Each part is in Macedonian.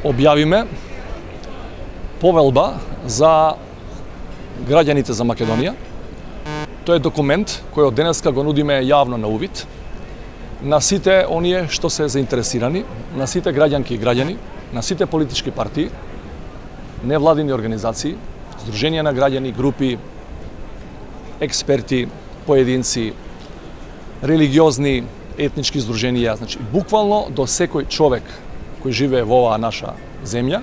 објавиме повелба за граѓаните за Македонија. Тој е документ кој од денеска го нудиме јавно на увид на сите оние што се заинтересирани, на сите граѓанки и граѓани, на сите политички партии, невладини организации, здруженија на граѓани, групи, експерти, поединци, религиозни, етнички здруженија, значи буквално до секој човек кој живее во оваа наша земја,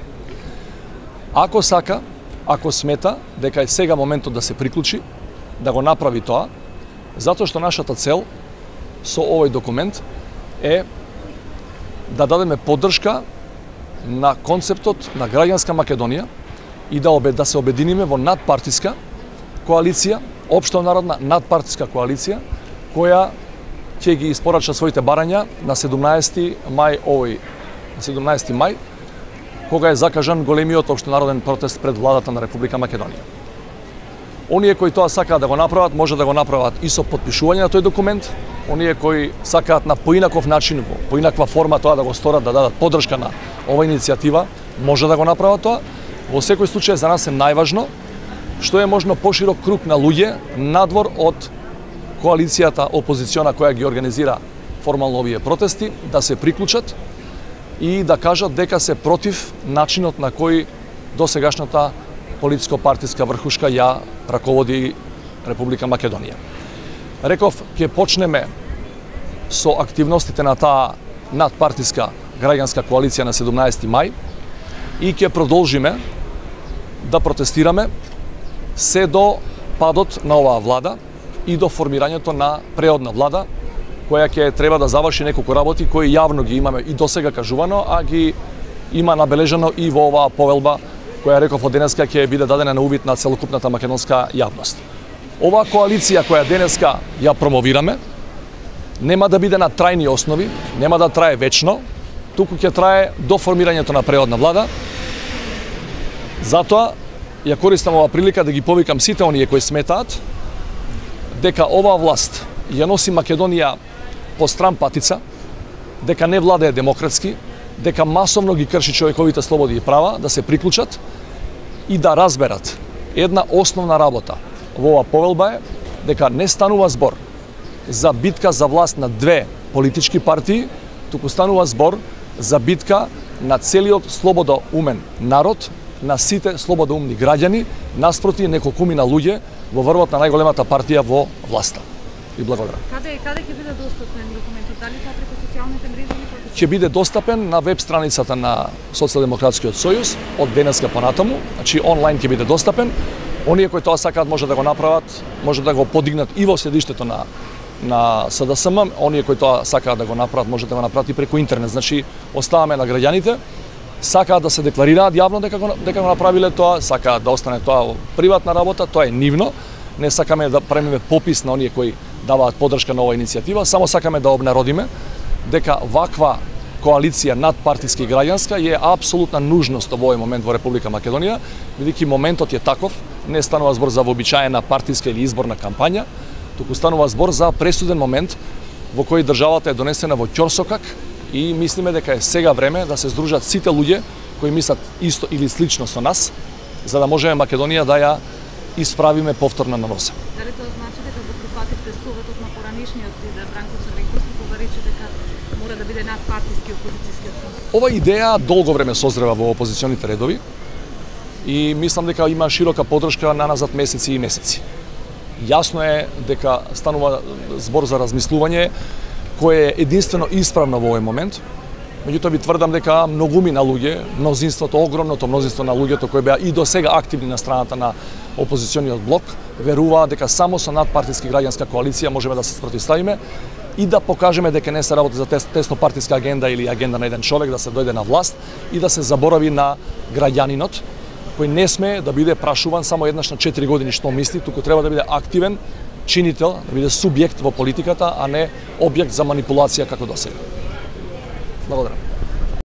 ако сака, ако смета дека е сега моментот да се приклучи, да го направи тоа, затоа што нашата цел со овој документ е да дадеме поддршка на концептот на граѓанска Македонија и да се обединиме во надпартиска коалиција, општонародна надпартиска коалиција, која ќе ги испорача своите барања на 17 мај, кога е закажан големиот општонароден протест пред владата на Република Македонија. Оние кои тоа сакаат да го направат, може да го направат и со потпишување на тој документ. Оние кои сакаат на поинаков начин, во поинаква форма тоа да го сторат, да дадат поддршка на оваа иницијатива, може да го направат тоа. Во секој случај за нас е најважно што е можно поширок круг на луѓе надвор од коалицијата опозициона која ги организира формално овие протести, да се приклучат и да кажат дека се против начинот на кој досегашната политичко-партиска врхушка ја раководи Република Македонија. Реков, ќе почнеме со активностите на таа надпартиска граѓанска коалиција на 17 мај и ќе продолжиме да протестираме се до падот на оваа влада и до формирањето на преодна влада, која ќе треба да заврши неколку работи кои јавно ги имаме и досега кажувано, а ги има набележано и во оваа повелба која реков од денеска ќе биде дадена на увид на целокупната македонска јавност. Оваа коалиција која денеска ја промовираме нема да биде на трајни основи, нема да трае вечно, туку ќе трае до формирањето на преодна влада. Затоа ја користам оваа прилика да ги повикам сите оние кои сметаат дека оваа власт ја носи Македонија по стран патица, дека не владее демократски, дека масовно ги крши човековите слободи и права, да се приклучат и да разберат една основна работа во оваа повелба е дека не станува збор за битка за власт на две политички партии, туку станува збор за битка на целиот слободоумен народ, на сите слободоумни граѓани, наспроти неколкумина луѓе во врвот на најголемата партија во власта. И благодарам. Каде ќе биде достапен документот? Дали тоа преку социјалните мрежи? Ќе биде достапен на веб страницата на Социјалдемократскиот сојуз од денеска понатаму, значи онлайн ќе биде достапен. Оние кои тоа сакаат може да го направат, може да го подигнат и во седиштето на СДСМ, оние кои тоа сакаат да го направат, може да го направат и преку интернет. Значи оставаме на граѓаните, сакаат да се декларираат јавно дека го направиле тоа, сакаат да остане тоа приватна работа, тоа е нивно. Не сакаме да правиме попис на оние кои даваат поддршка на оваа иницијатива, само сакаме да обнародиме дека ваква коалиција надпартиска и граѓанска е апсолутна нужност во овој момент во Република Македонија, бидејќи моментот е таков, не станува збор за вообичаена партиска или изборна кампања, туку станува збор за пресуден момент во кој државата е донесена во ќорсокак и мислиме дека е сега време да се здружат сите луѓе кои мислат исто или слично со нас, за да можеме Македонија да ја исправиме повторно на носа. Дали тоа значи дека го прифативте советот на поранишниот лидер Бранко Црвенковски кога рече дека мора да биде надпартиски опозицијски фронт? Ова идеја долго време созрева во опозиционите редови и мислам дека има широка поддршка на назад месеци и месеци. Јасно е дека станува збор за размислување кое е единствено исправно во овој момент. Меѓутоа ви тврдам дека многумина луѓе, мнозинството, огромното мнозинство на луѓето кои беа и до сега активни на страната на опозициониот блок, веруваат дека само со надпартиски граѓанска коалиција можеме да се спротивставиме и да покажеме дека не се работи за теснопартиска агенда или агенда на еден човек да се дојде на власт и да се заборави на граѓанинот кој не смее да биде прашуван само еднаш на 4 години што мисли, туку треба да биде активен чинител, да биде субјект во политиката, а не објект за манипулација како досега. Благодарам.